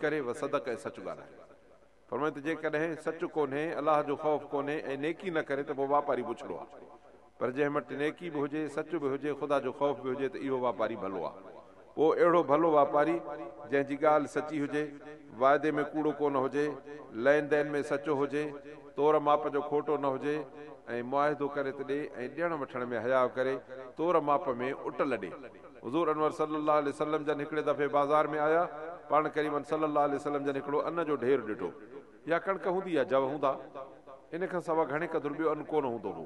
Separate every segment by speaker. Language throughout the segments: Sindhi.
Speaker 1: ڪري وصدق ۽ سچ ڳالهائي. فرمايو ته جيڪڏهن سچ ڪونهي، الله جو خوف ڪونهي ۽ نيڪي نه ڪري ته پوء واپاري بڇڙو آهي. پر جنهن وٽ نيڪي به هجي، سچ به هجي، خدا جو خوف به هجي ته اهو واپاري ڀلو آهي. پوء اهڙو ڀلو واپاري جنهن جي ڳالهه سچي هجي، واعدي ۾ ڪوڙو ڪونه هجي، لين دين ۾ سچو هجي، تور ماپ جو کوٽو نه هجي ۽ معاهدو ڪري ته ڏي ۽ ڏيڻ وٺڻ ۾ حياء ڪري، تور ماپ ۾ اٽل ڏي. حضور انور صلّي اللّٰه عليه وسلّم جن هڪڙي دفعي بازار ۾ آيا، پاڻ ڪريمن صلّي اللّٰه عليه وسلّم جن هڪڙو ان جو ڍير ڏٺو. يا ڪڻڪ هوندي يا جو هوندا. ان کان سوا گهڻي قدر ٻيو ان ڪونه هوندو هو.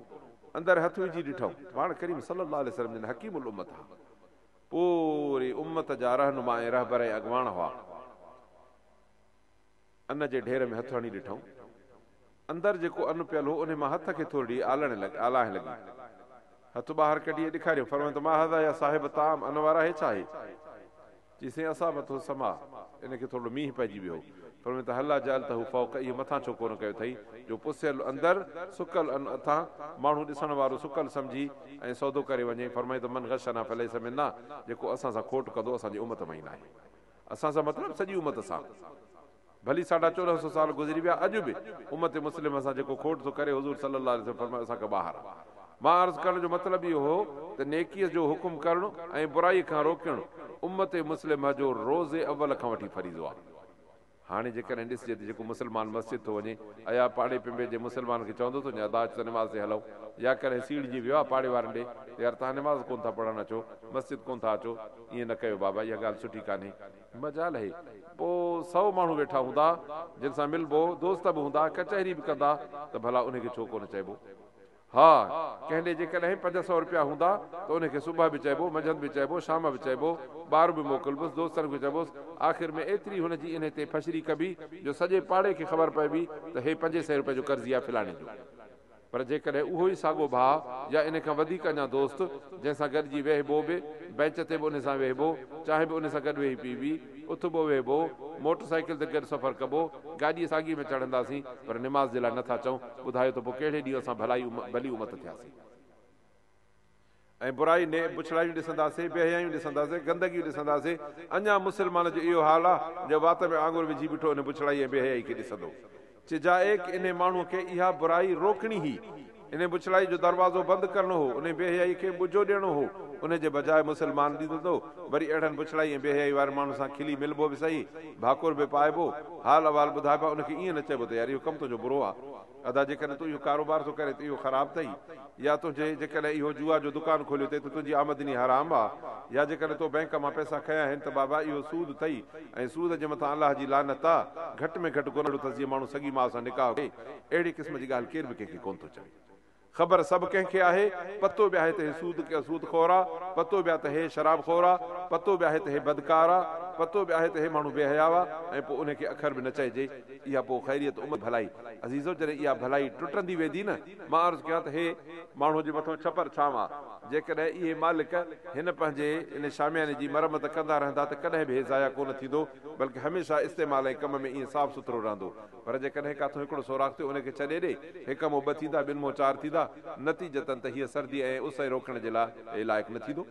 Speaker 1: اندر هٿ وجهي ڏٺائون. پاڻ ڪريم صلّي اللّٰه عليه وسلّم جن حڪيم الامّت ها. پوري امّت جا رهنما ۽ رهبر ۽ اڳواڻ هئا. ان جي ڍير ۾ هٿ هڻي ڏٺائون. اندر جيڪو ان پيل هو، انهي مان هٿ کي ٿورڙي آلڻ آلاهه لڳي. هٿ ٻاهر ڪڍي ۽ ڏيکاريائون. فرمايائون ته ما هذا يا صاحب الطعام ان وارا هي ڇا آهي؟ چي سائين اصابته السماء ان کي ٿورڙو مينهن پئجي ويو هو. فرمايائون ته هلا جعلته فوق اهو مٿان ڇو ڪونه ڪيو اٿئي جو پسيل اندر سڪل ان اٿان ماڻهو ڏسڻ وارو سڪل سمجهي ۽ سودو ڪري وڃي. فرمايائون ته من غشنا فليس منا جيڪو اسان سان کوٽ ڪندو اسان جي امت مان ئي ناهي. اسان سان مطلب سڄي امت سان. ڀلي ساڍا 14 سو سال گذري ويا اڄ به امت مسلمه سان جيڪو کوٽ ٿو ڪري حضور صلي الله عليه وسلم فرمايو اسان کان ٻاهر آ. مان عرض ڪرڻ جو مطلب اهو هو ته نيڪيء جو حڪم ڪرڻ ۽ برائي کان روڪڻ امت مسلمه جو روز اول کان وٺي فريضو آ. هاڻي جيڪڏهن ڏسجي ته جيڪو مسلمان مسجد ٿو وڃي ايا پاڙي پنبي جي مسلمان کي چوندو ٿو وڃي ادا اچ ته نماز تي هلون يا ڪڏهن سيڙجي ويو آ پاڙي وارن ڏي ته يار توهان نماز ڪونه ٿا پڙهڻ اچو مسجد ڪونه ٿا اچو ائين نه ڪيو بابا اها ڳالهه سٺي ڪانهي. مجال اهي. پوء سئو ماڻهو ويٺا هوندا، جن سان ملبو، دوست به هوندا، ڪچهري به ڪندا ته ڀلا انهي کي ڇو ڪونه چئبو؟ ها، ڪنهن ڏي جيڪڏهن 500 رپيا هوندا ته انهي کي صبح به چئبو، منجهند به چئبو، شام به چئبو، ٻار به موڪلبس، دوستن کي چئبوس، آخر ۾ ايتري هن جي انهي تي ڦشري ڪبي جو سڄي پاڙي کي خبر پئبي ته هي 500 رپئي جو قرضي آهي فلاڻي جو. پر جيڪڏهن اهو ئي ساڳو ڀاء يا ان کان وڌيڪ اڃا دوست، جنهن سان گڏجي ويهبو به، بئنچ تي به ان سان ويهبو، چانهه به ان سان گڏ ويهي پيئبي، اٿبو ويهبو، موٽر سائيڪل تي گڏ سفر ڪبو، گاڏيء ساڳيء ۾ چڙهنداسين، پر نماز جي لاء نه ٿا چئون، ٻڌايو ته پوء ڪهڙي ڏينهن اسان ڀلائي ڀلي امت ٿياسين؟ ۽ برائي ني بڇڙايون ڏسنداسين، بيحيائيون ڏسنداسين، گندگيون ڏسنداسين، اڃا مسلمان جو اهو حال آ جو وات ۾ آڱر وجهي بيٺو ان بڇڙائي ۽ بيحيائي کي ڏسندو. چجائيڪ انهي ماڻهوء کي اها برائي روڪڻي هئي، انهي بڇڙائي جو دروازو بند ڪرڻو هو، انهي بيحيائي کي ٻجو ڏيڻو هو، انهي جي بجاء مسلمان ڏيندو، وري اهڙن بڇڙائي ۽ بيحيائي وارن ماڻهن سان کلي ملبو به سهي، ڀاڪر به پائبو، حال احوال ٻڌائبا، ان کي ائين نه چئبو ته يار اهو ڪم تنهنجو برو آ. ادا جيڪڏهن تون اهو ڪاروبار ٿو ڪرين ته اهو خراب اٿئي يا تنهنجي جيڪڏهن اهو جوا جو دڪان کوليو اٿئي ته تنهنجي آمدني حرام آ يا جيڪڏهن تو بئنڪ مان پئسا کنيا آهن ته بابا اهو سود اٿئي ۽ سود جي مٿان الله جي لعنت آ گهٽ ۾ گهٽ گناهه اٿس جيئن ماڻهو سڳي ماء سان نڪاح ڪري اهڙي قسم جي ڳالهه ڪير به ڪنهن کي ڪونه ٿو چوي. خبر سڀ ڪنهن کي آهي، پتو به آهي ته هي سود سود خور آ، پتو به آ ته هي شراب خور آ، پتو به آهي ته هي بدڪار آ، پتو به آهي ته هي ماڻهو بي حياء آ ۽ پوء انهي کي اکر به نه چئجي، اها پوء خيريت امت ڀلائي. عزيزو جڏهن اها ڀلائي ٽٽندي ويندي نه، مان عرض ڪيان ته هي ماڻهو جي مٿون ڇپر ڇانو آ، جيڪڏهن اهي مالڪ هن پنهنجي ان شامياني جي مرمت ڪندا رهندا ته ڪڏهن به هي ضايع ڪونه ٿيندو، بلڪه هميشه استعمال ۽ ڪم ۾ ائين صاف سٿرو رهندو. پر جيڪڏهن ڪاٿو هڪڙو سوراخ ٿيو ان کي ڇڏي ڏي، هڪ مون ٻه ٿيندا، ٻن مون چار ٿيندا، نتيجتاً ته هيء سردي ۽ اس ۽ روڪڻ جي لاء لائق نه ٿيندو.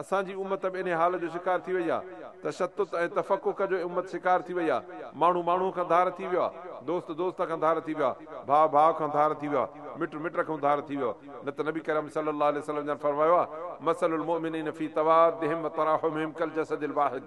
Speaker 1: اسان جي امت به انهيء حال جو شڪار ٿي وئي آهي. تشتت ۽ تفڪڪ جو امت شڪار ٿي وئي آهي. ماڻهو ماڻهوء کان ڌار ٿي ويو آهي. دوست دوست کان ڌار ٿي ويو آهي. ڀاء ڀاء کان ڌار ٿي ويو آهي. مٽ مٽ کان ڌار ٿي ويو آهي. نه ته نبي ڪريم صلي الله عليه وسلم جن فرمايو آهي، مثل المؤمنين في توادهم وتراحمهم ڪالجسد الواحد.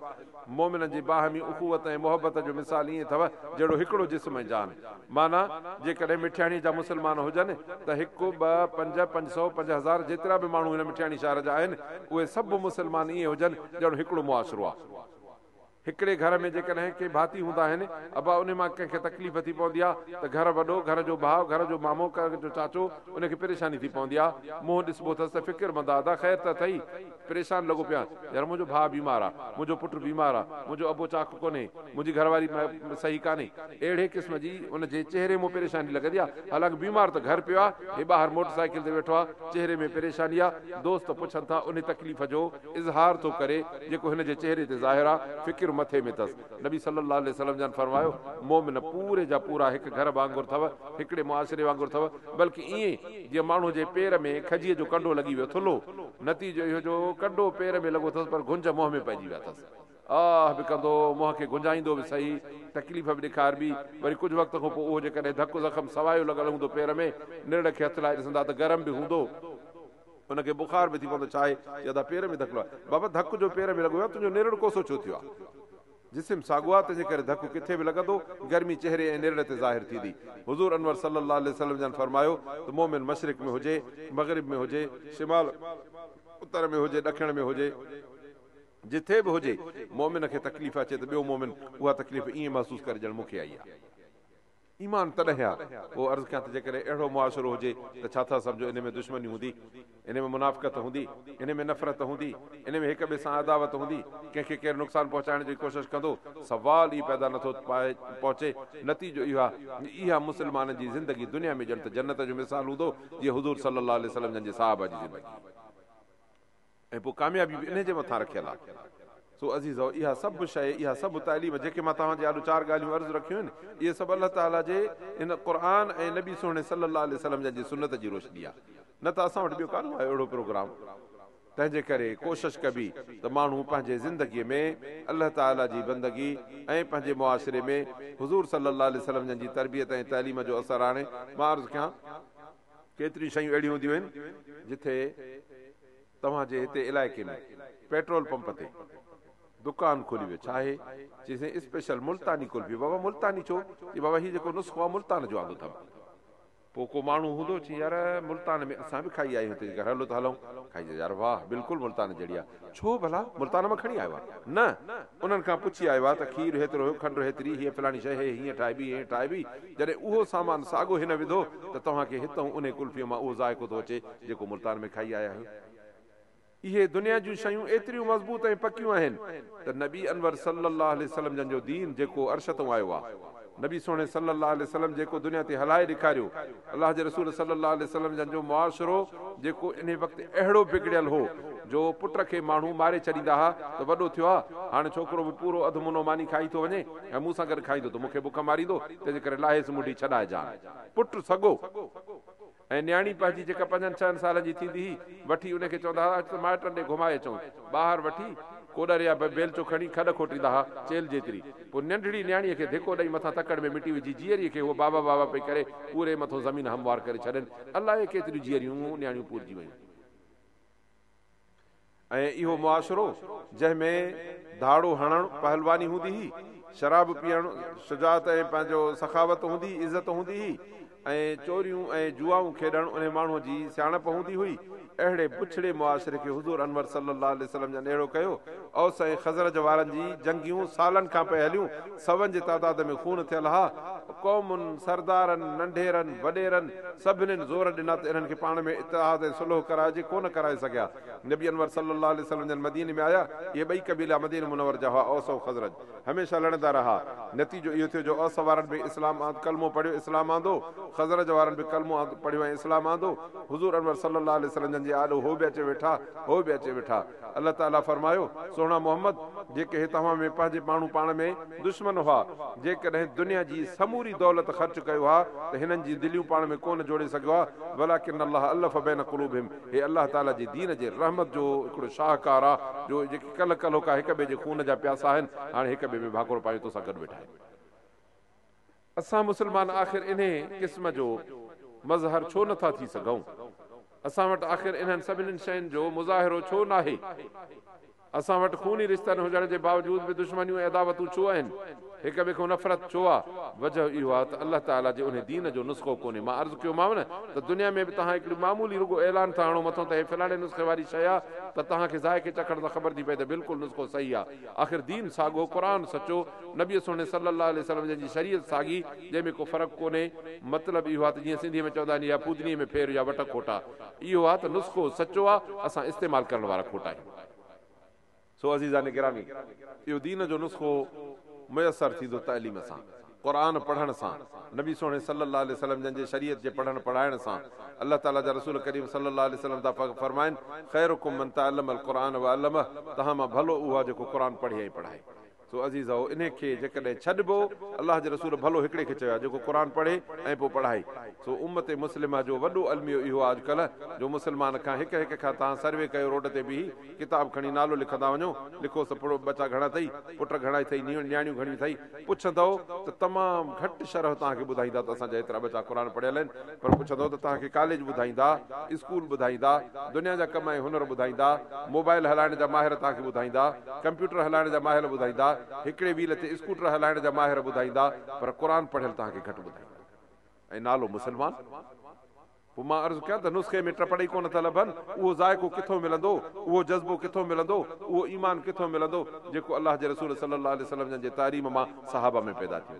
Speaker 1: مؤمنن جي باهمي اخوت ۽ محبت جو مثال ائين اٿو جهڙو هڪڙو جسم ۽ جان. معنيٰ، جيڪڏهن مٺياڻيء جا مسلمان هجن ته هڪ، ٻه، پنج، 500، 5000 جيترا به ماڻهو هن مٺياڻي شهر جا آهن، اهي سڀ مسلمان ائين هجن ڄڻ هڪڙو معاشرو آ. هڪڙي گهر ۾ جيڪڏهن ڪي ڀاتي هوندا آهن، ابا انهي مان ڪنهن کي تڪليف ٿي پوندي آ ته گهر وڏو، گهر جو ڀاء، گهر جو مامو، گهر جو چاچو، ان کي پريشاني ٿي پوندي آ. منهن ڏسبو اٿس ته فڪرمند آ، ادا خير ته اٿئي؟ پريشان لڳو پيو آهيان، يار منهنجو ڀاء بيمار آ، منهنجو پٽ بيمار آ، منهنجو ابو چاق ڪونهي، منهنجي گهر واري صحيح ڪانهي. اهڙي قسم جي ان جي چهري مون پريشاني لڳندي آ، حالانڪ بيمار ته گهر پيو آ، هي ٻاهر موٽر سائيڪل تي ويٺو آ، چهري ۾ پريشاني آ، دوست پڇن ٿا، انهي تڪليف جو اظهار ٿو ڪري، جيڪو هن جي چهري تي ظاهر آ، فڪر مٿي ۾ ٿس. نبي صلّي اللّٰه عليه وسلّم جن فرمايو، مؤمن پوري جا پورا هڪ گهر وانگر ٿو، هڪڙي معاشري وانگر ٿو، بلڪ ائين جيئن ماڻهو جي پير ۾ کجيء جو ڪنڊو لڳي ويو، ٿلهو، نتيجو اهو جو ڪنڊو پير ۾ لڳو اٿس پر گهنج منهن ۾ پئجي ويا اٿس. آه به ڪندو، منهن کي گهنجائيندو به سهي، تڪليف به ڏيکاربي، وري ڪجهه وقت کان پوء اهو جيڪڏهن ڌڪ زخم سوايو لڳل هوندو پير ۾، نرڙ کي هٿ لائي ڏسندا ته گرم به هوندو، ان کي بخار به ٿي پوندو، ڇا آهي؟ چي ادا پير ۾ ڌڪ لڳو آهي. بابا ڌڪ جو پير ۾ لڳو آهي، تنهنجو نرڙ ڪوسو ڇو ٿيو آهي؟ جسم ساڳو آهي، تنهنجي ڪري ڌڪ ڪٿي به لڳندو، گرمي چهري ۽ نرڙ تي ظاهر ٿيندي. حضور انور صلي الله عليه وسلم جن فرمايو ته مؤمن مشرق ۾ هجي، مغرب ۾ هجي، شمال اتر ۾ هجي، ڏکڻ ۾ هجي، جٿي به هجي، مؤمن کي تڪليف اچي ته ٻيو مؤمن اها تڪليف ائين محسوس ڪري ڄڻ مون کي آئي آهي. ايمان تڏهن آ. پوء عرض ڪيان ته جيڪڏهن اهڙو معاشرو هجي ته ڇا ٿا سمجهو انهي ۾ دشمني هوندي؟ انهي ۾ منافقت هوندي؟ انهي ۾ نفرت هوندي؟ انهي ۾ هڪ ٻئي سان عداوت هوندي؟ ڪنهن کي ڪير نقصان پهچائڻ جي ڪوشش ڪندو؟ سوال ئي پيدا نٿو پهچي. نتيجو اهو آ اها مسلمانن جي زندگي دنيا ۾ ڄڻ ته جنت جو مثال هوندو جيئن حضور صلي الله عليه وسلم جن جي صحابه جي زندگي. ۽ پوء ڪاميابي به انهي جي مٿان رکيل آهي. سو عزيزؤ! اها سڀ شيء، اها سڀ تعليم، جيڪي مان توهان جي آڏو چار ڳالهيون عرض رکيون آهن، اهي سڀ الله تعاليٰ جي هن قرآن ۽ نبي سهڻي صلّي الله عليه وسلّم جن جي سنّت جي روشني آهي، نه ته اسان وٽ ٻيو ڪانه آهي اهڙو پروگرام. تنهن جي ڪري ڪوشش ڪبي ته ماڻهو پنهنجي زندگيء ۾ الله تعاليٰ جي بندگي ۽ پنهنجي معاشري ۾ حضور صلّي الله عليه وسلّم جن جي تربيت ۽ تعليم جو اثر آڻي. مان عرض ڪيان. ڪيتريون شيون اهڙيون هونديون آهن، جٿي توهان جي هتي علائقي ۾ پيٽرول پمپ تي دڪان کولي ويو ڇا آهي؟ چي سائين اسپيشل ملتاني قلفي بابا ملتاني ڇو؟ چي بابا هي جيڪو نسخو آهي ملتان جو آندو اٿم. پوء ڪو ماڻهو هوندو چي يار ملتان ۾ اسان به کائي آيا آهيون تنهنجي گهر هلو ته هلون کائي چي يار واهه بلڪل ملتان جهڙي آهي ڇو ڀلا ملتان مان کڻي آيو آهي نه انهن کان پڇي آيو آهي ته کير هيترو هيو کنڊ هيتري هيء فلاڻي شيء هي هيئن ٺاهبي هيئن ٺاهبي جڏهن اهو سامان ساڳو هن وڌو ته توهان کي هتئون انهي قلفيء مان اهو ذائقو ٿو اچي جيڪو ملتان ۾ کائي آيا آهيو. اهي دنيا جون شيون ايتريون مضبوط ۽ پڪيون آهن ته نبي انور صلّي الله عليه وسلّم جن جو دين جيڪو عرش تئون آيو آ، نبي سهڻي صلّي الله عليه وسلّم جيڪو دنيا تي هلائي ڏيکاريو، الله جي رسول صلّي الله عليه وسلّم جن جو معاشرو جيڪو انهي وقت اهڙو بگڙيل هو جو پٽ کي ماڻهو ماري ڇڏيندا ها ته وڏو ٿيو آ، هاڻي ڇوڪرو به پورو اڌ منو ماني کائي ٿو وڃي ۽ مون سان گڏ کائيندو ته مون کي بک ماريندو، تنهنجي ڪري لاهيس منڍي ڇڏائي جان. پٽ سڳو ۽ نياڻي پنهنجي جيڪا پنجن ڇهن سالن جي ٿيندي هئي، وٺي ان کي چوندا ها اچ ته مائٽن ڏي گهمائي اچون. ٻاهر وٺي ڪوڏر يا بيلچو کڻي کڏ کوٽيندا ها، چيلهه جيتري. پوء ننڍڙي نياڻيء کي ڌڪو ڏئي مٿان تڪڙ ۾ مٽي وجهي جيئريء کي هوء بابا بابا پئي ڪري پوري مٿون زمين هموار ڪري ڇڏين. الائي ڪيتريون جيئريون نياڻيون پورجي ويون. ۽ اهو معاشرو جنهن ۾ ڌاڙو هڻڻ پهلواني هوندي هئي، شراب پيئڻ شجاعت ۽ پنهنجو سخاوت هوندي هئي، عزت هوندي هئي ۽ چوريون ۽ جوئائون کيڏڻ انهي ماڻهوء جي سياڻپ هوندي هئي، اهڙي بڇڙي معاشري کي حضور انور صلي الله عليه وسلم جن اهڙو ڪيو. اوس ۽ خزرج وارن جي جنگيون سالن کان پئي هليون، سون جي تعداد ۾ خون ٿيل ها، قومن، سردارن، ننڍيرن، وڏيرن سڀنين زور ڏنا ته انهن کي پاڻ ۾ اتحاد ۽ صلح ڪرائجي، ڪونه ڪرائي سگهيا. نبي انور صلي الله عليه وسلم جن مديني ۾ آيا، اهي ٻئي قبيلا مدينه منور جا هئا، اوس ۽ خزرج هميشه لڙندا رها، نتيجو اهو ٿيو جو اوس وارن به اسلام آند ڪلمو پڙهيو اسلام آندو، خزرج وارن به ڪلمو آند پڙهيو ۽ اسلام آندو، حضور انور صلي الله عليه وسلم جن جي آڏو هو به اچي ويٺا، هو به اچي ويٺا. الله تعاليٰ فرمايو، سهڻا محمد! جيڪي هي توهان ۾ پنهنجي ماڻهو پاڻ ۾ دشمن هئا، جيڪڏهن دنيا جي سموري دولت خرچ ڪيو ها ته هنن جي دليون پاڻ ۾ ڪونه جوڙي سگهيو ها، ولڪن الله الف بين قلوبهم، هي الله تعاليٰ جي دين جي رحمت جو هڪڙو شاهڪار آ جو جيڪي ڪلهه ڪلهوڪا هڪ ٻئي جي خون جا پياسا آهن، هاڻي هڪ ٻئي ۾ ڀاڪر پايون توسان گڏ ويٺا آهن. اسان مسلمان آخر انهي قسم جو مظهر ڇو نٿا ٿي سگهون؟ اسان وٽ آخر انهن سڀني شين جو مظاهرو ڇو ناهي؟ اسان وٽ خوني رشتن هجڻ جي باوجود به دشمنيون ۽ عداوتون ڇو آهن؟ هڪ ٻئي کان نفرت ڇو آ؟ وجه اهو آ ته الله تعاليٰ جي انهي دين جو نسخو ڪونهي. مان عرض ڪيومانو نه ته دنيا ۾ به توهان هڪڙي معمولي رڳو اعلان ٿا هڻو مٿون ته هي فلاڻي نسخي واري شيء آ ته توهان کي ذائقي چکڻ سان خبر ٿي پئي ته بلڪل نسخو صحيح آ. آخر دين ساڳو، قرآن سچو، نبي سهڻي صلّي اللّٰه عليه وسلّم جن جي شريعت ساڳي، جنهن ۾ ڪو فرق ڪونهي. مطلب اهو آ ته جيئن سنڌيء ۾ چوندا آهن يا پودنيء ۾ ڦير يا وٽ کوٽا. اهو آ ته نسخو سچو آ، اسان استعمال ڪرڻ وارا کوٽا آهيون. سو عزيزان گرامي! اهو دين جو نسخو ميسر ٿيندو تعليم سان، قرآن پڙهڻ سان، نبي سهڻي صلّي اللّٰه عليه وسلّم جن جي شريعت جي پڙهڻ پڙهائڻ سان. الله تعاليٰ جا رسول ڪريم صلّي اللّٰه عليه وسلّم ٿا فرمائن، خيرڪم من تعلّم القرآن وعلّمه، توهان مان ڀلو اهو آ جيڪو قرآن پڙهي ۽ پڙهائي. سو عزيزؤ! انهي کي جيڪڏهن ڇڏبو، الله جي رسول ڀلو هڪڙي کي چيو آهي، جيڪو قرآن پڙهي ۽ پوء پڙهائي. سو امت مسلمه جو وڏو الميو اهو آهي اڄڪلهه جو مسلمان کان هڪ هڪ کان توهان سروي ڪيو روڊ تي بيهي ڪتاب کڻي نالو لکندا وڃو، لکوس ته ٻچا گهڻا اٿئي، پٽ گهڻا اٿئي، نياڻيون گهڻيون اٿئي، پڇندؤ ته تمام گهٽ شرح توهان کي ٻڌائيندا ته اسان جا هيترا ٻچا قرآن پڙهيل آهن، پر پڇندؤ ته توهان کي ڪاليج ٻڌائيندا، اسڪول ٻڌائيندا، دنيا جا ڪم ۽ هنر ٻڌائيندا، موبائل هلائڻ جا ماهر توهان کي ٻڌائيندا، ڪمپيوٽر هلائڻ جا ماهر ٻڌائيندا، هڪڙي ويل تي اسڪوٽر هلائڻ جا ماهر ٻڌائيندا، پر قرآن پڙهيل توهان کي گهٽ ٻڌائيندا ۽ نالو مسلمان. پوء مان عرض ڪيان ته نسخي ۾ ٽپڙ ئي ڪونه ٿا لڀن، اهو ذائقو ڪٿون ملندو، اهو جذبو ڪٿون ملندو، اهو ايمان ڪٿون ملندو، جيڪو الله جي رسول صلي الله عليه وسلم جن جي تعليم مان صحابه ۾ پيدا ٿيو.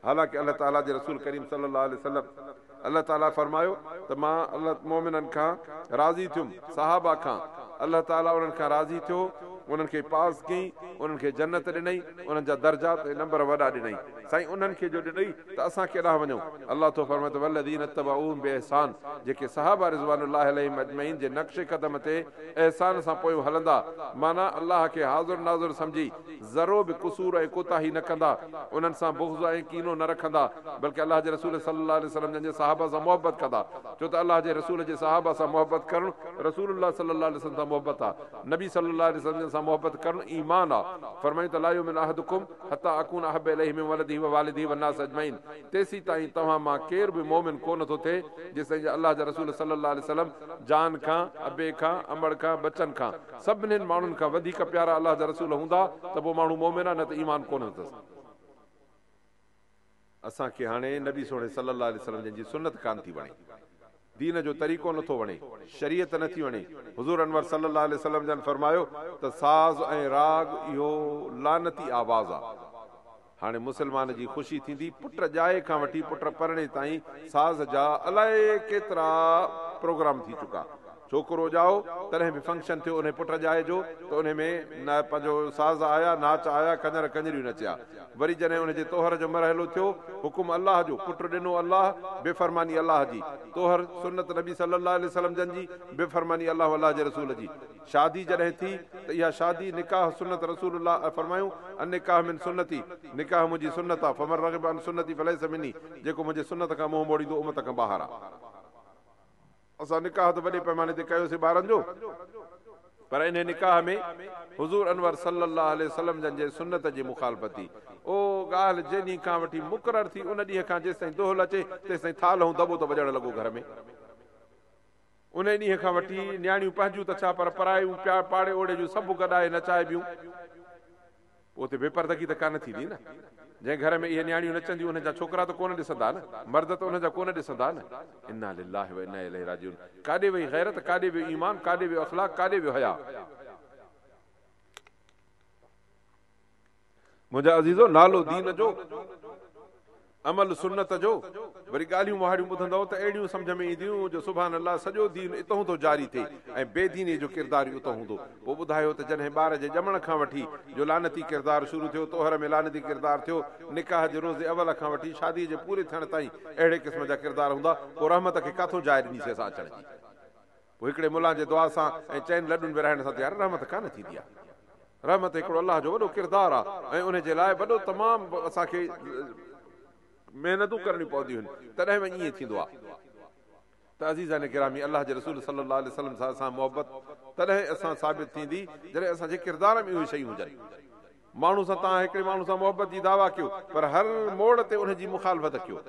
Speaker 1: حالانڪه الله تعاليٰ جي رسول ڪريم صلي الله عليه وسلم الله تعاليٰ فرمايو ته مان الله مؤمنن کان راضي ٿيم، صحابه کان، الله تعاليٰ انهن کان راضي ٿيو، انهن کي پاس ڪيائين، انهن کي جنت ڏنئي، انهن جا درجات ۽ نمبر وڏا ڏنئي. سائين انهن کي جو ڏنئي ته اسان ڪيڏانهن وڃون؟ الله ٿو فرمائي ته والذين اتبعوهم باحسان جيڪي صحابه رضوان الله عليهم اجمعين جي نقش قدم تي احسان سان پويون هلندا معنيٰ الله کي حاضر ناظر سمجهي ذرو به قصور ۽ ڪوتاهي نه ڪندا انهن سان بغض ۽ ڪينو نه رکندا بلڪه الله جي رسول صلي الله عليه وسلم جن جي صحابه سان محبت ڪندا ڇو ته الله جي رسول جي صحابه سان محبت ڪرڻ رسول الله صلي الله عليه وسلم سان محبت آ نبي صلي الله عليه وسلم جن سان محبت ڪرڻ ايمان آ فرمايون ته لا يؤمن احدڪم حتي اڪون احب اليه من ولده ووالده والناس اجمعين تيسيتائين توهان مان ڪير به مؤمن ڪو نه ٿو ٿئي جيستائين جو الله جا رسول صلي الله عليه وسلم جان کان، ابي کان، امڙ کان، ٻچن کان، سڀنين ماڻهن کان وڌيڪ پيارا الله جا رسول هوندا ته پوء ماڻهو مؤمن آ نه ته ايمان ڪونه اٿس. اسان کي هاڻي نبي سهڻي صلي الله عليه وسلم جن جي سنت ڪانه ٿي وڻي. دين جو طريقو نه ٿو وڻي، شريعت نه ٿي وڻي. حضور انور صلي الله عليه وسلم جن فرمايو ته ساز ۽ راڳ اهو لعنتي آواز آ. هاڻي مسلمان جي خوشي ٿيندي پٽ ڄائي کان وٺي پٽ پرڻي تائين ساز جا الائي ڪيترا پروگرام ٿي چڪا. ڇوڪرو ڄائو تڏهن به فنڪشن ٿيو انهي پٽ ڄائي جو ته انهي ۾ نه پنهنجو ساز آيا ناچ آيا ڪڃر ڪڃريون نچيا وري جڏهن انهي جي طوهر جو مرحلو ٿيو حڪم الله جو پٽ ڏنو الله بي فرماني الله جي طوهر سنت نبي صلي الله عليه وسلم جن جي بي فرماني الله الله جي رسول جي شادي جڏهن ٿي ته اها شادي نڪاح سنت رسول الله فرمايون النڪاح من سنتي نڪاح منهنجي سنت آ فمن رغب عن سنتي فليس مني جيڪو منهنجي سنت کان منهن موڙيندو امت کان ٻاهر آ. اسان نڪاح ته وڏي پئماني تي ڪيوسين ٻارن جو پر انهي نڪاح ۾ حضور انور صلي الله عليه وسلم جن جي سنت جي مخالفت ٿي. او ڳالهه جنهن ڏينهن کان وٺي مقرر ٿي ان ڏينهن کان جيستائين دهل اچي تيستائين ٿالهه ۽ دٻو ته وڄڻ لڳو گهر ۾. انهي ڏينهن کان وٺي نياڻيون پنهنجون ته ڇا پر پرايون پاڙي اوڙي جون سڀ گڏائي نچائبيون. پوء اتي بي پردگي ته ڪانه ٿيندي نه. جنهن گهر ۾ اهي نياڻيون نچنديون انهن جا ڇوڪرا ته ڪونه ڏسندا نه، مرد ته انهن جا ڪونه ڏسندا نه. انا لله و انا اليه راجعون. ڪاڏي وئي غيرت، ڪاڏي ويو ايمان، ڪاڏي ويو اخلاق، ڪاڏي ويو حياء. منهنجا عزيزو! نالو دين جو، عمل سنت جو، وري ڳالهيون مهاڙيون ٻڌندؤ ته اهڙيون سمجهه ۾ اينديون جو سبحان الله سڄو دين اتهون ٿو جاري ٿئي ۽ بي دينيء جو ڪردار ئي اتهون هوندو. پوء ٻڌايو ته جڏهن ٻار جي ڄمڻ کان وٺي جو لعنتي ڪردار شروع ٿيو، طوهر ۾ لعنتي ڪردار ٿيو، نڪاح جي روز اول کان وٺي شاديء جي پوري ٿيڻ تائين اهڙي قسم جا ڪردار هوندا، پوء رحمت کي ڪاٿون جاء ڏنيسين اسان اچڻ جي؟ پوء هڪڙي ملان جي دعا سان ۽ چئن لڏن ورهائڻ سان ته يار رحمت ڪانه ٿيندي آ. رحمت هڪڙو الله جو وڏو ڪردار آ ۽ ان جي لاء وڏو تمام اسان کي محنتون ڪرڻيون پونديون آهن تڏهن وڃي ائين ٿيندو آ ته عزيزان گرامي الله جي رسول صلي الله عليه وسلم سان اسان محبت تڏهن اسان ثابت ٿيندي جڏهن اسان جي ڪردار ۾ اهي شيون هجن. ماڻهو سان توهان هڪڙي ماڻهو سان محبت جي دعويٰ ڪيو پر هر موڙ تي ان جي مخالفت ڪيو.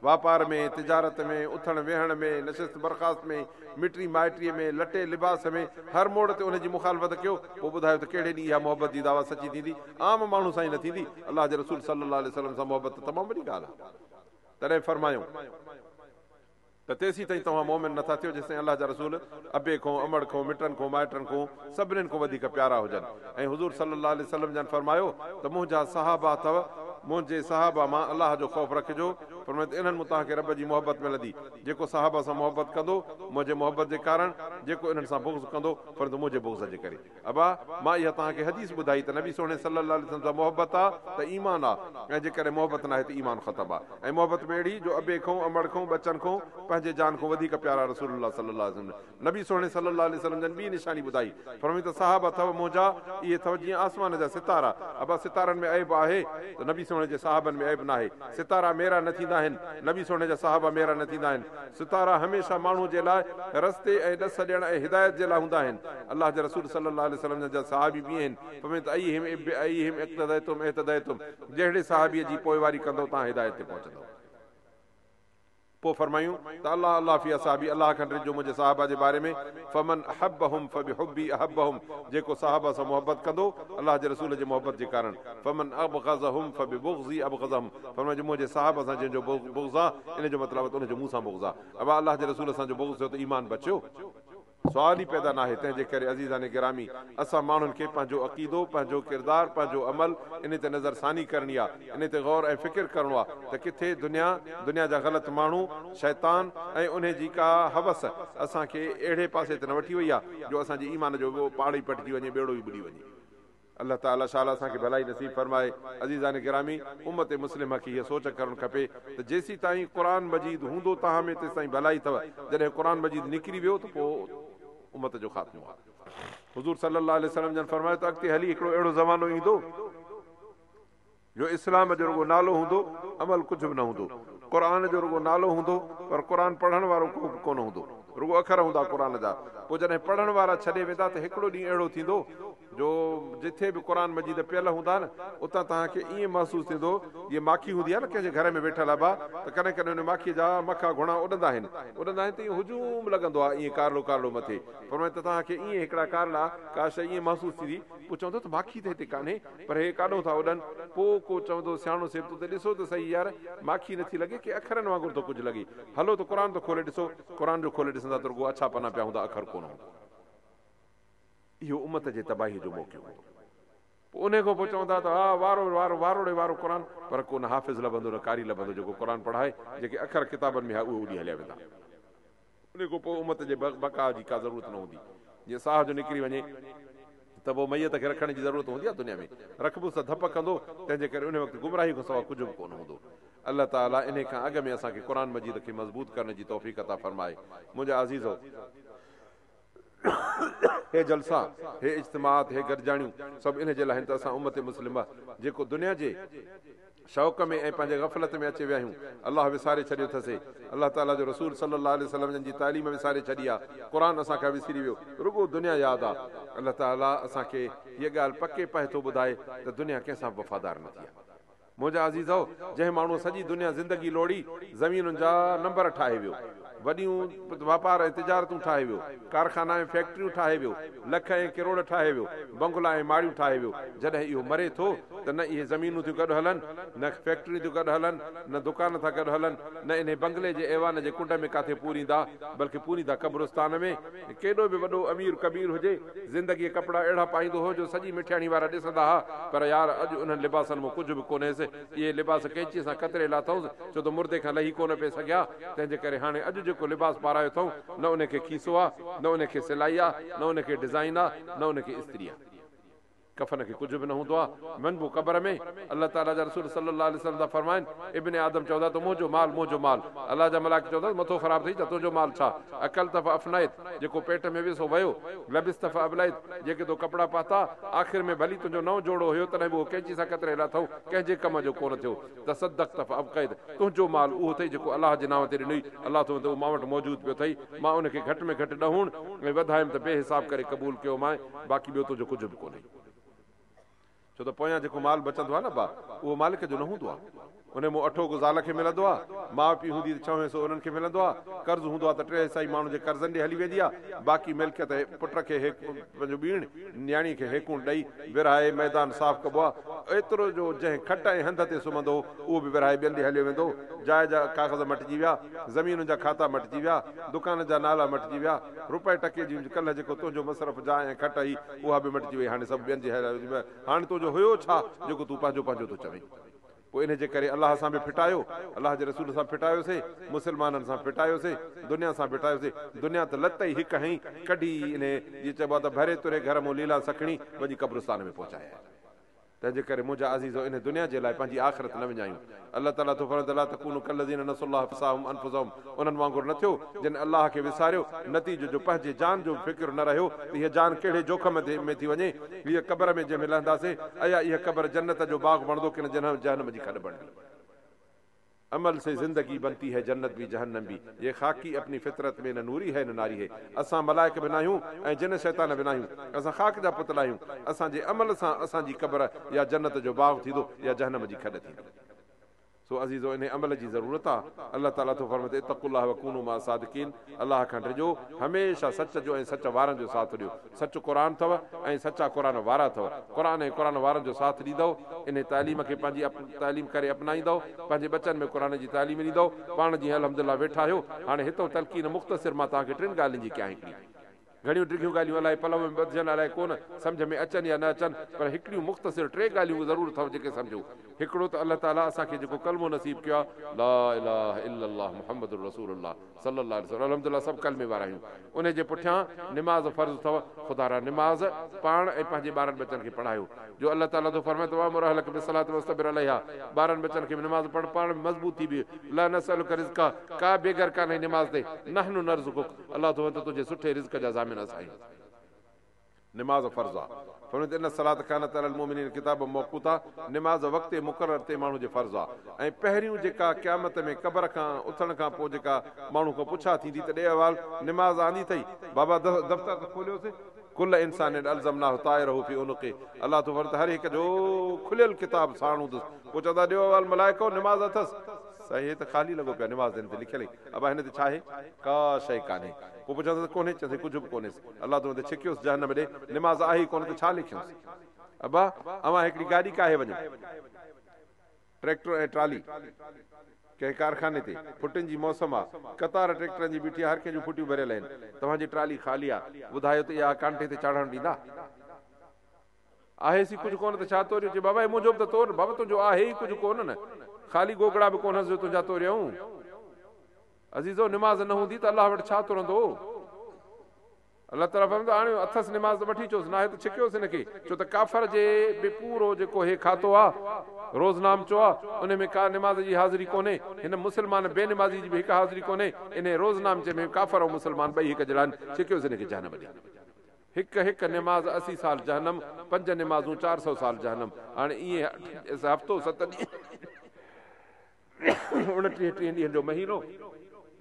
Speaker 1: واپار ۾، تجارت ۾، اٿڻ ويهڻ ۾، نشست برخاست ۾، مٽي مائٽيء ۾، لٽي لباس ۾، هر موڙ تي ان جي مخالفت ڪيو، پوء ٻڌايو ته ڪهڙي ڏينهن اها محبت جي دعويٰ سچي ٿيندي؟ عام ماڻهو سان ئي نه ٿيندي، الله جي رسول صلّي الله عليه وسلّم سان محبت ته تمام وڏي ڳالهه آهي. تڏهن فرمايائون. ته تيسين تائين توهان مؤمن نه ٿا ٿيو جيستائين الله جا رسول ابي کون، امڙ کون، مٽن کون، مائٽن کون، سڀنين کون وڌيڪ پيارا هجن ۽ حضور صلي الله عليه وسلم جن فرمايو ته منهنجا صحابه اٿو، منهنجي صحابه مان الله جو خوف رکجو. فرمايو ته انهن مون توهان کي رب جي محبت ملندي. جيڪو صحابه سان محبت ڪندو، منهنجي محبت جي ڪارڻ، جيڪو انهن سان بغض ڪندو، فرمايو ته منهنجي بغض جي ڪري. ابا! مان اها توهان کي حديث ٻڌائي ته نبي سهڻي صلّي الله عليه وسلّم سان محبت آ ته ايمان آ ۽ جيڪڏهن محبت ناهي ته ايمان ختم آ ۽ محبت ۾ اهڙي جو ابي کون، امڙ کون، ٻچن کون، پنهنجي جان کون وڌيڪ پيارا رسول الله صلّي الله عليه وسلّم نبي سهڻي صلّي الله عليه وسلّم جن ٻي نشاني ٻڌائي فرمائي ته صحابه اٿو منهنجا اهي اٿو جيئن آسمان جا ستارا ابا ستارن ۾ عيب آهي ته نبي سهڻي جي صحابن ۾ عيب ناهي ستارا ميرا نه ٿيندا آهن نبي سهڻي جا صحابه ميرا نه ٿيندا آهن ستارا هميشه ماڻهو جي لاء رستي ۽ ڏس ڏيڻ ۽ هدايت جي لاء هوندا آهن. الله جي رسول صلي الله عليه وسلم جن جا صحابي به آهن، فرمايو ته ايهم بأيهم اقتديتم اهتديتم جهڙي صحابيء جي پوئواري ڪندؤ توهان هدايت تي پهچندؤ. پوء فرمايون ته الله الله في اصحابي الله کان ڊڄو منهنجي صحابه جي باري ۾ فمن احبهم فبحبي احبهم جيڪو صحابه سان محبت ڪندو الله جي رسول جي محبت جي ڪارڻ فمن ابغضهم فببغضي ابغضهم فرمايو جو منهنجي صحابه سان جنهن جو بغض آ ان جو مطلب آ ته ان جو مون سان بغض آ. ابا الله جي رسول سان جو بغض ٿيو ته ايمان بچيو؟ سوال ئي پيدا ناهي تنهن جي ڪري عزيزان گرامي اسان ماڻهن کي پنهنجو عقيدو پنهنجو ڪردار پنهنجو عمل انهي تي نظر ثاني ڪرڻي آ انهي تي غور ۽ فڪر ڪرڻو آ ته ڪٿي دنيا دنيا جا غلط ماڻهو شيطان ۽ انهي جي ڪا هوس اسان کي اهڙي پاسي ته نه وٺي وئي آ جو اسان جي ايمان جو پاڙ ئي پٽجي وڃي ٻيڙو ئي ٻڏي وڃي. الله تعالي شال اسان کي ڀلائي نصيب فرمائي. عزيزان گرامي! امت مسلمه کي هيء سوچ ڪرڻ کپي ته جيسيتائين قرآن مجيد هوندو توهان ۾ تيستائين ڀلائي اٿو، جڏهن قرآن مجيد نڪري ويو ته پوء امت جو خاتمو آهي. حضور صلي الله عليه وسلم جن فرمايو ته اڳتي هلي هڪڙو اهڙو زمانو ايندو جو اسلام جو رڳو نالو هوندو، عمل ڪجهه به نه هوندو. قرآن جو رڳو نالو هوندو پر قرآن پڙهڻ وارو ڪو به ڪونه هوندو. رڳو اکر هوندا قرآن جا. پوء جڏهن پڙهڻ وارا ڇڏي ويندا ته هڪڙو ڏينهن اهڙو ٿيندو جو جٿي به قرآن مجيد پيل هوندا نه اتان توهان کي ائين محسوس ٿيندو جيئن ماکي هوندي آهي نه ڪنهن جي گهر ۾ ويٺل ابا ته ڪڏهن ڪڏهن ان ماکيء جا مکا گهڻا اڏندا آهن اڏندا آهن ته ائين هجوم لڳندو آهي ائين ڪارڙو ڪارڙو مٿي فرمائي ته توهان کي ائين هڪڙا ڪارڙا ڪا شيء ائين محسوس ٿيندي پوء چوندو ته ماکي ته هتي ڪانهي پر هي ڪاڏهون ٿا اڏن پوء ڪو چوندو سياڻو سيبتو ته ڏسو ته سهي يار ماکي نٿي لڳي ڪي اکرن وانگر ٿو ڪجهه لڳي هلو ته قرآن ته کولي ڏسو قرآن جو کولي ڏسندا ته رڳو اڇا پنا پيا هوندا اکر ڪونه هوندو. اهو امت جي تباهيء جو موقعو هوندو. پوء انهيء کان پوء چوندا ته ها وارو وارو واروڙي وارو قرآن، پر ڪو نه حافظ لڀندو نه قاري لڀندو جيڪو قرآن پڙهائي، جيڪي اکر ڪتابن ۾ ها اهي اڏي هليا ويندا. انهيء کان پوء امت جي بقاء جي ڪا ضرورت نه هوندي. جيئن ساهه جو نڪري وڃي ته پوء ميت کي رکڻ جي ضرورت هوندي آهي دنيا ۾ رکبوس ته ڌپ ڪندو، تنهن جي ڪري انهيء وقت گمراهي کان سواء ڪجهه به ڪونه هوندو. الله تعاليٰ انهيء کان اڳ ۾ اسان کي قرآن مجيد کي مضبوط ڪرڻ جي توفيق عطا فرمائي. منهنجا عزيزو! هي جلسا، هي اجتماعات، هي گڏجاڻيون سڀ ان جي لاء آهن ته اسان امت مسلمه جيڪو دنيا جي شوق ۾ ۽ پنهنجي غفلت ۾ اچي ويا آهيون، الله وساري ڇڏيو ٿسي، الله تعالي جو رسول صلي الله عليه وسلم جن جي تعليم وساري ڇڏي آ، قرآن اسان کان وسري ويو، رڳو دنيا ياد آ. الله تعالي اسان کي هيء ڳالهه پڪي پهه ٿو ٻڌائي ته دنيا ڪنهن سان به وفادار نه ٿي آ. منهنجا عزيزؤ! جنهن ماڻهوء سڄي دنيا زندگي لوڙي، زمينن جا نمبر ٺاهي ويو، وڏيون واپار ۽ تجارتون ٺاهي ويو، ڪارخانا ۽ فيڪٽريون ٺاهي ويو، لک ۽ ڪروڙ ٺاهي ويو، بنگلا ۽ ماڙيون ٺاهي ويو، جڏهن اهو مري ٿو ته نه اهي زمينون ٿيون گڏ هلن، نه فيڪٽريون ٿيون گڏ هلن، نه دڪان ٿا گڏ هلن، نه انهي بنگلي جي ايوان جي ڪنڊ ۾ ڪاٿي پوريندا، بلڪه پوريندا قبرستان ۾. ڪيڏو به وڏو امير ڪبير هجي، زندگيء ڪپڙا اهڙا پائيندو هو جو سڄي مٺياڻي وارا ڏسندا ها، پر يار اڄ انهن لباسن مان ڪجهه به ڪونهيس، اهي لباس قينچيء سان ڪتري لاٿائونس، ڇو ته مردي کان لهي ڪونه پئي سگهيا، تنهن جي ڪري هاڻي اڄ جيڪو لباس پارايو اٿئون، نه ان کي کيسو آ، نه ان کي سلائي آ، نه ان کي ڊزائين آ، نه ان کي استري آ. ڪفن کي ڪجهه به نه هوندو آ، وڃبو قبر ۾، الله تعاليٰ جا رسول صلّي الله عليه وسلّم ٿا فرمائن، ابن آدم چوندا ته منهنجو مال، منهنجو مال، الله جا ملائڪ چوندا ته مٿو خراب ٿئي ڇا تنهنجو مال ڇا، اڪلت فافنيت، جيڪو پيٽ ۾ ويو سو ويو، لبست فابليت، جيڪي تو ڪپڙا پاتا، آخر ۾ ڀلي تنهنجو نئون جوڙو هيو تڏهن به اهو قينچي سان ڪتري لاٿئون، ڪنهن جي ڪم جو ڪونه ٿيو، تصدقت فابقيت، تنهنجو مال اهو اٿئي جيڪو الله جي نانء تي ڏنوئي، الله ٿو ته اهو مان وٽ موجود پيو اٿئي، مان ان کي گهٽ ۾ گهٽ ڏهوڻ ۽ وڌايم ته بي حساب ڪري قبول ڪيومانء، باقي ٻيو تنهنجو ڪجهه به ڪونهي. ڇو ته پويان جيڪو مال بچندو آهي نه با، اهو مالڪ جو نه هوندو آهي. انهي مون اٺو ڪو زال کي ملندو آهي، ماء پيء هوندي ته ڇهون حصو انهن کي ملندو آهي، قرض هوندو آهي ته ٽي حصا ئي ماڻهو جي قرضن ڏي هلي ويندي آهي، باقي ملڪيت پٽ کي هيڪ پنهنجو ٻيڻ، نياڻي کي هيڪوڻ ڏئي ورهائي ميدان صاف ڪبو آهي. ايترو جو جنهن کٽ ۽ هنڌ تي سمهندو هو، اهو به ورهائي ٻين ڏي هليو ويندو هو. جاء جا ڪاغذ مٽجي ويا، زمينن جا کاتا مٽجي ويا، دڪانن جا نالا مٽجي ويا، رپئي ٽڪي جي ڪلهه جيڪو تنهنجو مصرف جاء ۽ کٽ هئي، اها به مٽجي وئي، هاڻي سڀ ٻين جي هاڻي تنهنجو هيو ڇا، جيڪو تون پنهنجو پنهنجو ٿو چوين؟ پوء انهي جي ڪري الله سان به ڦٽايو، الله جي رسول سان ڦٽايوسي، مسلمانن سان ڦٽايوسي، دنيا سان ڦٽايوسي، دنيا ته لت ئي هڪ هنئي ڪڍي انهي جيئن چئبو آهي ته ڀري تري گهر مون ليلان سکڻي وڃي قبرستان ۾ پهچائي آيا. تنهن جي ڪري منهنجا عزيزو انهي دنيا جي لاء پنهنجي آخرت نه وڃايون. الله تعاليٰ ٿو فرمائي ته لا تڪونوا ڪالذين نسوا الله فانساهم انفسهم انهن وانگر نه ٿيو جن الله کي وساريو نتيجو جو پنهنجي جان جو به فڪر نه رهيو ته هيء جان ڪهڙي جوکم ۾ ٿي وڃي هيء قبر ۾ جنهن ۾ لهنداسين ايا اها قبر جنت جو باغ بڻندو ڪين جهنم جي کڏ بڻبي. عمل سي زندگي بنتي هي جنت ڀي جهنم ڀي يه خاڪي اپني فطرت ۾ نه نوري هي نه ناري هي اسان ملائڪ به ناهيون ۽ جن شيطان به ناهيون اسان خاڪ جا پتلا آهيون اسان جي عمل سان اسان جي قبر يا جنت جو باغ ٿيندو يا جهنم جي کڏ ٿيندي سو عزيزو انهي عمل جي ضرورت آ الله تعالي ٿو فرمائي ته اتقوا الله وڪونوا مع الصادقين الله کان ڊڄو هميشه سچ جو ۽ سچ وارن جو ساٿ ڏيو سچ قرآن اٿو ۽ سچا قرآن وارا اٿو. قرآن ۽ قرآن وارن جو ساٿ ڏيندؤ، انهي تعليم کي پنهنجي تعليم ڪري اپنائيندؤ، پنهنجي ٻچن ۾ قرآن جي تعليم ڏيندؤ، پاڻ جيئن الحمدلله ويٺا آهيو، هاڻي هتئون تلقين مختصر مان توهان کي ٽن ڳالهين جي ڪيان هڪڙي. گهڻيون ڊگهيون ڳالهيون الائي پلئه ۾ ٻڌجن الائي ڪونه، سمجهه ۾ اچن يا نه اچن، پر هڪڙيون مختصر ٽي ڳالهيون ضرور اٿو جيڪي سمجهو. هڪڙو ته الله تعاليٰ اسان کي جيڪو ڪلمو نصيب ڪيو آهي، لا اله الا الله محمد رسول الله، صلي الله عليه وسلم الحمد لله سڀ ڪلمي وارا آهيون انهي جي پٺيان نماز فرض اٿو خدارا نماز پاڻ ۽ پنهنجي ٻارن ٻچن کي پڙهايو جو الله تعالي ٿو فرمائي ته وامر اهلک بالصلوة واصطبر عليها ٻارن ٻچن کي به نماز پڙهه پاڻ به مضبوط ٿي بيهه لا نسئلک رزقا ڪا بيگر ڪانهي نماز تي نحن نرزقک الله ٿو فرمائي ته تنهنجي سٺي رزق جا ضامن اسان آهيون. نماز فرض آ. فرمايو ته ان الصلوة ڪانت علي المؤمنين ڪتابا موقوتا نماز وقت مقرر تي ماڻهو جي فرض آ ۽ پهريون جيڪا قيامت ۾ قبر کان اٿڻ کان پوء جيڪا ماڻهو کان پڇا ٿيندي ته ڏي احوال نماز آندي ٿئي بابا دفتر ته کوليوسين ڪل انسان الزمناه طائره في عنقه الله ٿو فرمائي ته هر هڪ جو کليل ڪتاب ساڻ هوندس پوء چوندا ڏيو احوال ملائڪو نماز اٿس سائين هي ته خالي لڳو پيو آ نماز هن تي لکيل ابا هن تي ڇا آهي ڪا شيء ڪانهي پوء پڇندس ته ڪونهي چيس ڪجهه به ڪونهيس الله تون ته ڇڪيوس جهنم ڏي، نماز آهي ئي ڪونه ته ڇا لکيونس. ابا، اوهان هڪڙي گاڏي ڪاهي وڃو، ٽريڪٽر ۽ ٽرالي، ڪنهن ڪارخاني تي، ڦٽين جي موسم آ، قطار ٽريڪٽرن جي بيٺي آ، هر ڪنهن جون ڦٽيون ڀريل آهن، توهان جي ٽرالي خالي آ، ٻڌايو ته اها ڪانٽي تي چاڙهڻ ڏيندا؟ آهيس ئي ڪجهه ڪونه ته ڇا توريون؟ چي بابا هي منهنجو به ته تور، بابا تنهنجو آهي ئي ڪجهه ڪونه نه، خالي گوگڙا به ڪونهنس جو تنهنجا توريون. عزيزو! نماز نه هوندي ته الله وٽ ڇا ترندو؟ الله تعاليٰ فرمائي ٿو، آڻيو اٿس نماز ته وٺي اچوس، ناهي ته ڇڪيوس هن کي، ڇو ته ڪافر جي به پورو جيڪو هي کاتو آ، روزنامچو آ، انهي ۾ ڪا نماز جي حاضري ڪونهي، هن مسلمان بي نمازي جي به هڪ حاضري ڪونهي، انهي روزنامچي ۾ ڪافر ۽ مسلمان ٻئي هڪ جهڙا آهن، ڇڪيوس هن کي جهنم ڏي. هڪ هڪ نماز 80 سال جهنم، پنج نمازون 400 سال جهنم، هاڻي ائين هفتو ست ڏينهن. 29 ٽيهن ڏينهن جو مهينو،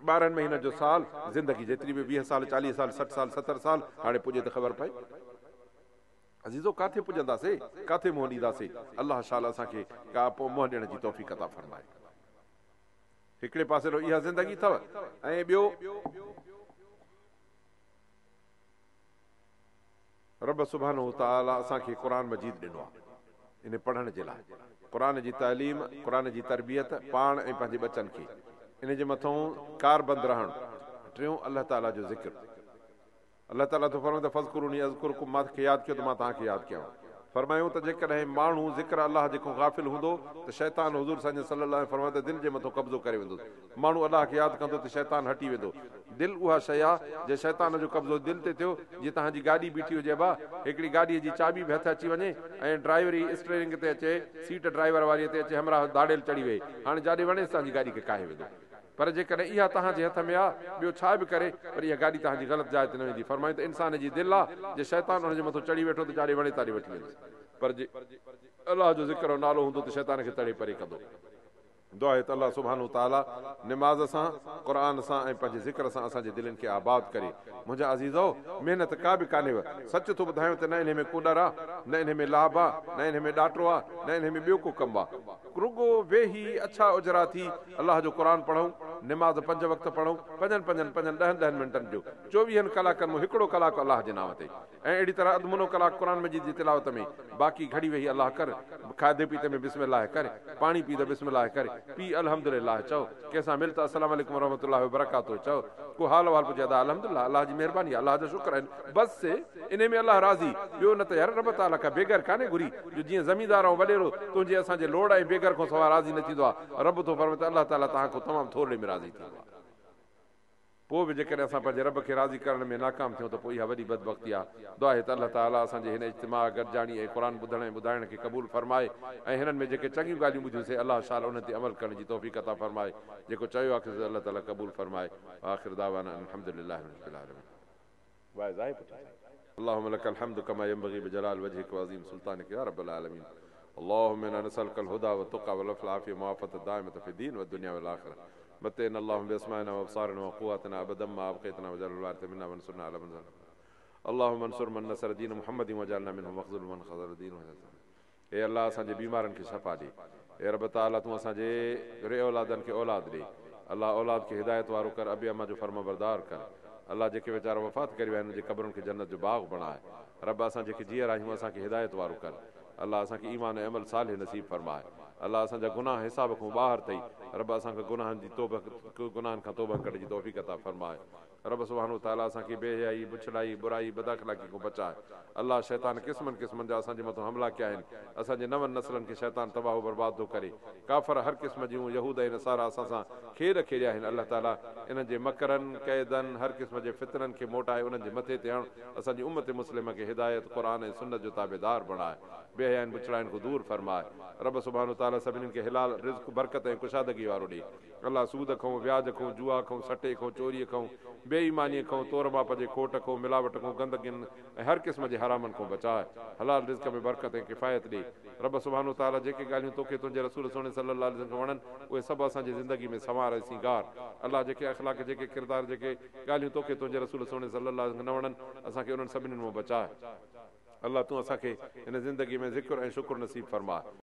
Speaker 1: 12 مهينن جو سال، زندگي جيتري به 20 سال، 40 سال، 60 سال، 70 سال، هاڻي پڄي ته خبر پئي. عزيزو! ڪاٿي پڄنداسي، ڪاٿي منهن ڏينداسي، الله شال اسان کي ڪا منهن ڏيڻ جي توفيق عطا فرمائي. هڪڙي پاسي رو اها زندگي اٿو ۽ ٻيو رب سبحانه وتعاليٰ اسان کي قرآن مجيد ڏنو آهي ان پڙهڻ جي لاء. قرآن جي تعليم، قرآن جي تربيت پاڻ ۽ پنهنجي ٻچن کي ان جي مٿئون ڪاربند رهڻ. ٽيون الله تعاليٰ جو ذڪر. الله تعاليٰ ٿو فرمائي ته فاذڪروني اذڪرڪم مان کي ياد ڪيو ته مان توهان کي ياد ڪيان. فرمايائون ته جيڪڏهن ماڻهو ذڪر الله جي کان غافل هوندو ته شيطان حضور سائين جن صلي الله عليه فرمايو ته دل جي مٿو قبضو ڪري ويندس. ماڻهو الله کي ياد ڪندو ته شيطان هٽي ويندو. دل اها شيء آ، جي شيطان جو قبضو دل تي ٿيو، جيئن توهان جي گاڏي بيٺي هجي ابا، هڪڙي گاڏيء جي چاٻي به هٿ اچي وڃي ۽ ڊرائيوري اسٽيئرنگ تي اچي، سيٽ ڊرائيور واريء تي اچي همراهه ڌاڙيل چڙهي ويهي، هاڻي جاڏي وڻيس توهان جي گاڏي کي ڪاهي ويندو. پر جيڪڏهن اها توهان جي هٿ ۾ آ، ٻيو ڇا به ڪري، پر اها گاڏي توهان جي غلط جاء تي نه ويندي. فرمايائون ته انسان جي دل آ، جي شيطان ان جي مٿو چڙهي ويٺو ته جاڏي وڻي تاڏي وٺي ويندس. پر جي الله جو ذڪر ۽ نالو هوندو ته شيطان کي تڙي پري ڪندو. دعا آهي ته الله سبحانه وتعاليٰ نماز سان، قرآن سان ۽ پنهنجي ذڪر سان اسان جي دلين کي آباد ڪري. منهنجا عزيزؤ! محنت ڪا به ڪانهيو. سچ ٿو ٻڌايان ته نه انهي ۾ ڪو ڏر آ، نه انهي ۾ لاڀ آ، نه انهي ۾ ڏاٽو آ، نه انهي ۾ ٻيو ڪو ڪم آ. رڳو ويهي اڇا اجرا ٿي الله جو قرآن پڙهون، نماز پنج وقت پڙهون، پنجن پنجن پنجن ڏهن ڏهن منٽن جو، چوويهن ڪلاڪن مون هڪڙو ڪلاڪ الله جي نانء تي. ۽ اهڙي طرح اڌ منو ڪلاڪ قرآن مجيد جي تلاوت ۾، باقي گهڙي ويهي الله ڪر، کاڌي پيتي ۾ بسم الله ڪر، پاڻي پي ته بسم الله ڪر، پي الحمد لله چئو، ڪنهن سان مل ته السلام عليڪم ورحمة الله وبرڪاته چئو، ڪو حال احوال پڇي ادا الحمد لله الله جي مهرباني آهي الله جو شڪر آهي بس انهي ۾ الله راضي، ٻيو نه ته يار رب تعاليٰ ڪا بيگر ڪانهي گهري جو جيئن زميندار ۽ وڏيرو تنهنجي اسان جي لوڙ ۽ بيگر کان سواء راضي نه ٿيندو آهي، رب ٿو فرمائي ته الله تعاليٰ توهان کان تمام ٿورڙي ۾ راضي ٿيندو آهي. پوء به جيڪڏهن اسان پنهنجي رب کي راضي ڪرڻ ۾ ناڪام ٿيون ته پوء اها وڏي بدبختي آهي. دعا آهي ته الله تعاليٰ اسان جي هن اجتماع، گڏجاڻي ۽ قرآن ٻڌڻ ۽ ٻڌائڻ کي قبول فرمائي ۽ هنن ۾ جيڪي چڱيون ڳالهيون ٻڌيون سي الله شال انهن تي عمل ڪرڻ جي توفيق عطا فرمائي. جيڪو چيو آهي سو الله تعاليٰ قبول فرمائي. وآخر دعوانا ان الحمد لله رب العالمين. واعظ آهي پٺيان سائين. اللهم لك الحمد كما ينبغي بجلال وجهك وعظيم سلطانك يا رب العالمين اللهم انا نسألك الهدى والتقى والعفو والعافية والمعافاة الدائمة في الدين والدنيا والآخرة متعنا اللهم بأسماعنا وأبصارنا وقواتنا أبدا ما أبقيتنا واجعل الوارث منا وانصرنا على من ظلمنا اللهم انصر من نصر دين محمد واجعلنا منهم واخذل من خذل دين اي الله اسان جي بيمارن کي شفا ڏي اي رب تعالي تون اسان جي بي اولادن کي اولاد ڏي الله اولاد کي هدايت وارو ڪر ابي اما جو فرمانبردار ڪر الله جيڪي ويچارا وفات ڪري ويا آهن انهن جي قبرن کي جنت جو باغ بڻاء رب اسان جيڪي جيئرا آهيون اسان کي هدايت وارو ڪر الله اسان کي ايمان ۽ عمل صالح نصيب فرماء الله اسان جا گناهه حساب کان ٻاهر ٿئي رب اسان کي گناهن جي توبه گناهن کان توبه ڪرڻ جي توفيق عطا فرماء رب سبحانه وتعاليٰ اسان کي بي حيائي، بڇڙائي، برائي، بداخلاقي کان بچاء. الله شيطان قسمن قسمن جا اسان جي مٿان حملا ڪيا آهن. اسان جي نون نسلن کي شيطان تباهه و برباد ٿو ڪري. ڪافر هر قسم جون يهود ۽ نصارا اسان سان کيڏ کيڏيا آهن. الله تعاليٰ انهن جي مڪرن، ڪيدن، هر قسم جي فتنن کي موٽائي انهن جي مٿي تي هڻ. اسان جي امت مسلمه کي هدايت، قرآن ۽ سنت جو تابعدار بڻاء. بي حيائين بڇڙائين کان دور فرماء. رب سبحانه وتعاليٰ سڀني کي حلال رزق، برڪت ۽ ڪشادگي وارو ڏي. الله سود کئون، وياج کئون، جوا کئون، سٽي کئون، چوريء کئون، بي ايمانيء کئون، تور ماپ جي کوٽ کئون، ملاوٽ کئون، گندگين ۽ هر قسم جي حرامن کئون بچاء. حلال رزق ۾ برڪت ۽ ڪفايت ڏي. رب سبحانه وتعاليٰ جيڪي ڳالهيون توکي تنهنجي رسول سهڻي صلّي الله عليه وسلّم کي وڻن، اهي سڀ اسان جي زندگي ۾ سنوار ۽ سينگار. الله جيڪي اخلاق، جيڪي ڪردار، جيڪي ڳالهيون توکي تنهنجي رسول سهڻي صلّي الله عليه وسلّم کي نه وڻن، اسان کي انهن سڀني مان بچاء. الله تون اسان کي هن زندگي ۾ ذڪر ۽ شڪر نصيب فرماء.